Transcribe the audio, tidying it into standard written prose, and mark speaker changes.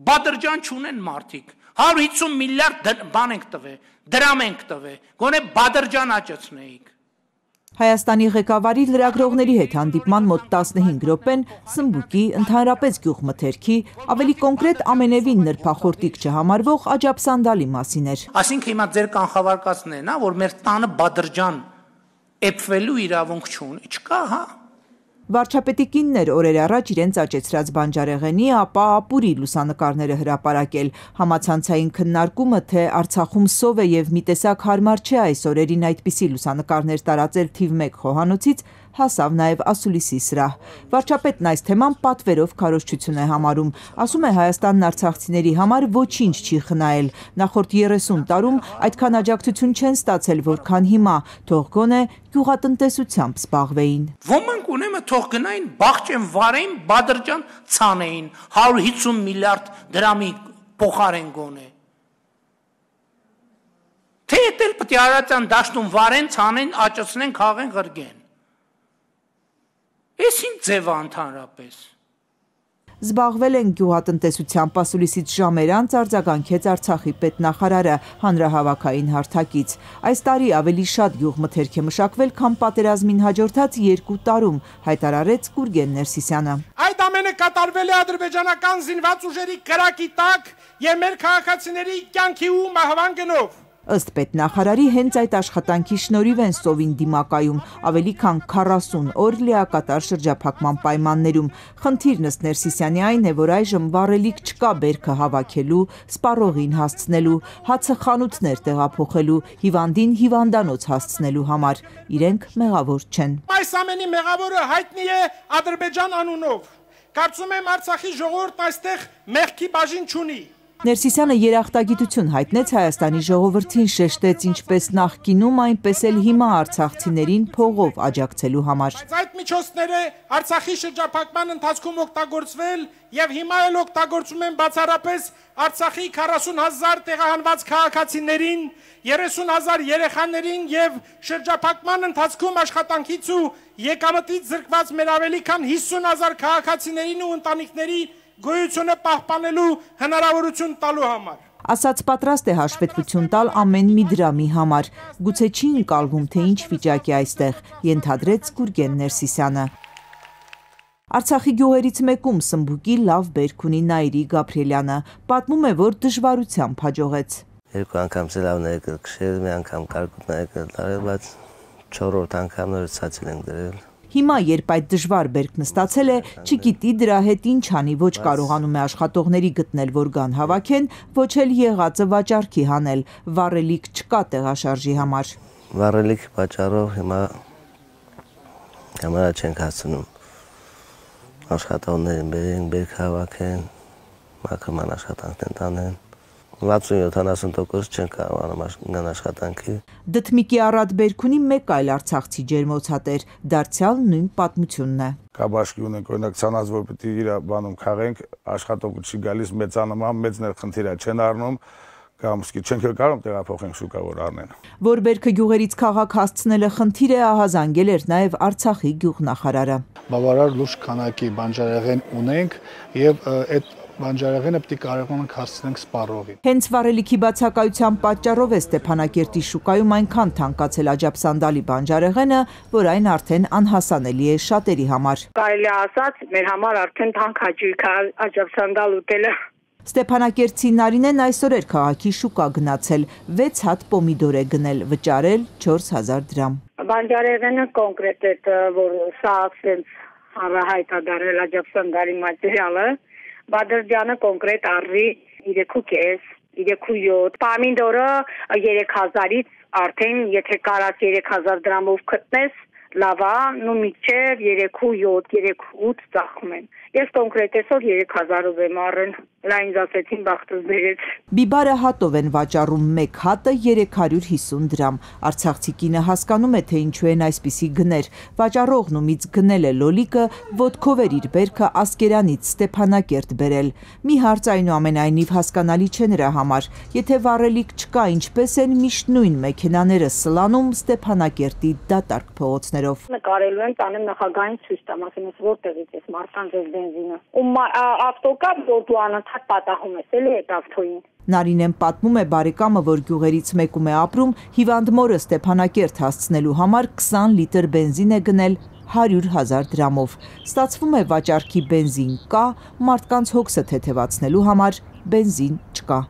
Speaker 1: Բադրջան չունեն մարդիկ, 150 միլիարդ բան ենք տվել, դրամ ենք տվել, գոնե Բադրջան աճեցնեիք։
Speaker 2: Հայաստանի ղեկավարի լրագրողների հետ հանդիպման մոտ 15 րոպեն սմբուկի, ընդհանրապես գյուղմթերքի, ավելի կոնկրետ ամենևին նրբախորտիկ չհամարվող աջափսանդալի մասին էր։
Speaker 1: Այսինքն հիմա ձեր կանխավարկածն է, որ մեր տանը Բադրջան էփվելու իրավունք չկա, հա։
Speaker 2: Վարչապետի կինն էր օրեր առաջ իրենց աճեցրած բանջարեղենի, ապա ապուրի լուսանկարները հրապարակել։ Համացանցային քննարկումը, թե Արցախում սով է եւ մի տեսակ հարմար չէ այս օրերին այդպիսի լուսանկարներ տարածել թիվ 1 խոհանոցից, հասավ նաև ասուլիսի սրահ։ Վարչապետն այս թեման պատվերով քարոզչություն է համարում, ասում է Հայաստանն արցախցիների համար ոչինչ չի խնայել, նախորդ 30 տարում այդքան աջակցություն չեն ստացել, որքան հիմա, թող գոնե գյուղատնտեսությամբ զբաղվեին։
Speaker 1: Ոմանք ունեմը թող գնային բաղճեն վարեին, Բադրջան ցանեին, 150 միլիարդ դրամի փոխարեն գոնե։ Թե էլ պետք է Արարատյան դաշտում վարեն, ցանեն, աճեցնեն, քաղեն, ղրգեն։ Էս ինչ ձև է ընդհանրապես։
Speaker 2: Զբաղվել են գյուղատնտեսությամբ, ասուլիսից ժամեր անց արձագանքեց Արցախի պետնախարարը հանրահավաքային հարթակից։ Այս տարի ավելի շատ գյուղմթերք է մշակվել, քան պատերազմին հաջորդած 2 տարում, հայտարարեց Գուրգեն Ներսիսյանը։
Speaker 3: Այդ ամենը կատարվել է ադրբեջանական զինված ուժերի կրակի տակ եւ մեր քաղաքացիների կյանքի ու մահվան գնով։
Speaker 2: Ըստ պետնախարարի հենց այդ աշխատանքի շնորհիվ են սովին դիմակայում, ավելի քան 40 օր լիակատար շրջափակման պայմաններում։ Խնդիրն ըստ Ներսիսյանի այն է, որ այժմ վառելիք չկա բերքը հավաքելու, սպառողին հասցնելու, հացը խանութներ տեղափոխելու, հիվանդին հիվանդանոց հասցնելու համար։ Իրենք մեղավոր չեն։
Speaker 3: Այս ամենի մեղավորը հայտնի է Ադրբեջան անունով։ Կարծում եմ Արցախի ժողովուրդն այստեղ մեղքի բաժին չունի։
Speaker 2: Ներսիսյանը երախտագիտություն հայտնեց Հայաստանի ժողովրդին, շեշտեց ինչպես նախկինում, այնպես էլ հիմա արցախցիներին փողով աջակցելու համար։
Speaker 3: Այդ միջոցները Արցախի շրջափակման ընթացքում օգտագործվել եւ հիմա էլ օգտագործում են բացառապես Արցախի 40,000 տեղահանված քաղաքացիներին, 30,000 երեխաներին եւ շրջափակման ընթացքում աշխատանքից ու եկամտից զրկված մեր ավելի քան 50,000 քաղաքացիներին ու ընտանիքների գոյությունը պահպանելու հնարավորություն տալու համար։
Speaker 2: Ասաց պատրաստ է հաշվետվություն տալ ամեն մի դրամի համար։ Գուցե չի ընկալվում, թե ինչ վիճակ է այստեղ, ենթադրեց Գուրգեն Ներսիսյանը։ Արցախի գյուղերից մեկում սմբուկի լավ բերք ունի Նայիրի Գաբրիելյանը, պատմում է, որ դժվարությամբ հաջողեց։
Speaker 4: 2 անգամ սելավներ կրկշել, մի անգամ կարկուտներ կտարել, բայց 4-րդ անգամ նորից ցածել ենք դրել։
Speaker 2: Հիմա, երբ այդ դժվար բերքն ստացել է, չգիտի դրա հետ ինչ անի, ոչ կարողանում է աշխատողների գտնել, որ գան հավաքեն, ոչ էլ եղածը վաճառքի հանել, վառելիք չկա տեղաշարժի համար։
Speaker 4: Վառելիք վաճառով հիմա կամերա չենք հասցնում։ Աշխատողներին բերենք, բերք հավաքեն, մաքրման աշխատանքներ տանեն։ 60-70% չեն կարողանում գան աշխատանքի։
Speaker 2: Դդմիկի առատ բերք ունի մեկ այլ արցախցի ջերմոցատեր, դարձյալ նույն պատմությունն է։
Speaker 5: Կա բաշկի ունենք, օրինակ ցանած, որ պետք է իր բանում քաղենք, աշխատողը չի գալիս, մեծանման, մեծներ խնդիր է չեն առնում, կամ սկի չենք կարող տեղափոխենք շուկա, որ առնեն։
Speaker 2: Որ բերքը գյուղերից քաղաք հասցնելը խնդիր է, ահազանգել էր նաև Արցախի գյուղնախարարը։
Speaker 6: Բավարար լուրջ քանակի բանջարեղեն ունենք եւ այդ բանջարեղենը պետք է կարողանանք հասցնենք սպառողին։
Speaker 2: Հենց վառելիքի բացակայության պատճառով է Ստեփանակերտի շուկայում այնքան թանկացել աջափսանդալի բանջարեղենը, որ այն արդեն անհասանելի է շատերի համար։
Speaker 7: Կարելի է ասած, մեր համար արդեն թանկ հաճույք է աջափսանդալ ուտելը։
Speaker 2: Ստեփանակերտցի Նարինեն այսօր էր քաղաքի շուկա գնացել, 6 հատ պոմիդոր է գնել, վճարել 4000 դրամ։
Speaker 7: Բանջարեղենը կոնկրետ է, որ սա ասենց հանրահայտ է դարել աջափսանդալի մատերիալը, Բադրջանը կոնկրետ առի 3.5, 3.7, պամիդորը 3000-ից արդեն եթե կարած 3000 դրամով գտնես, լավ է, նու միջև 3.7, 3.8 ծախում են։ Ես կոնկրետ այսօր 3000-ով եմ առել, ինձ ասեցին բախտս բերեց։
Speaker 2: Բիբարը հատով են վաճառում, մեկ հատը 350 դրամ։ Արցախցի կինը հասկանում է, թե ինչու են այսպիսի գներ։ Վաճառողն ումից գնել է լոլիկը, ոտքով էր իր բերքը Ասկերանից Ստեփանակերտ բերել։ Մի հարց այնուամենայնիվ հասկանալի չէ նրա համար։ Եթե վառելիք չկա, ինչպես են միշտ նույն մեքենաները սլանում Ստեփանակերտի դատարկ փողոցներով։
Speaker 7: Նկարելու են տանեմ նախագահային ցույց տամ, ասեմ, որտեղից է մարդկանց բենզինը։ Ու ավտո կա, որ դու անընդհատ պատահում ես էլի այդ ավտոյին։
Speaker 2: Նարինեն պատմում է բարեկամը, որ գյուղերից մեկում է ապրում, հիվանդ մորը Ստեփանակերտ հասցնելու համար 20 լիտր բենզին է գնել 100,000 դրամով։ Ստացվում է վաճառքի բենզին կա, մարդկանց հոգսը թեթևացնելու համար բենզին չկա։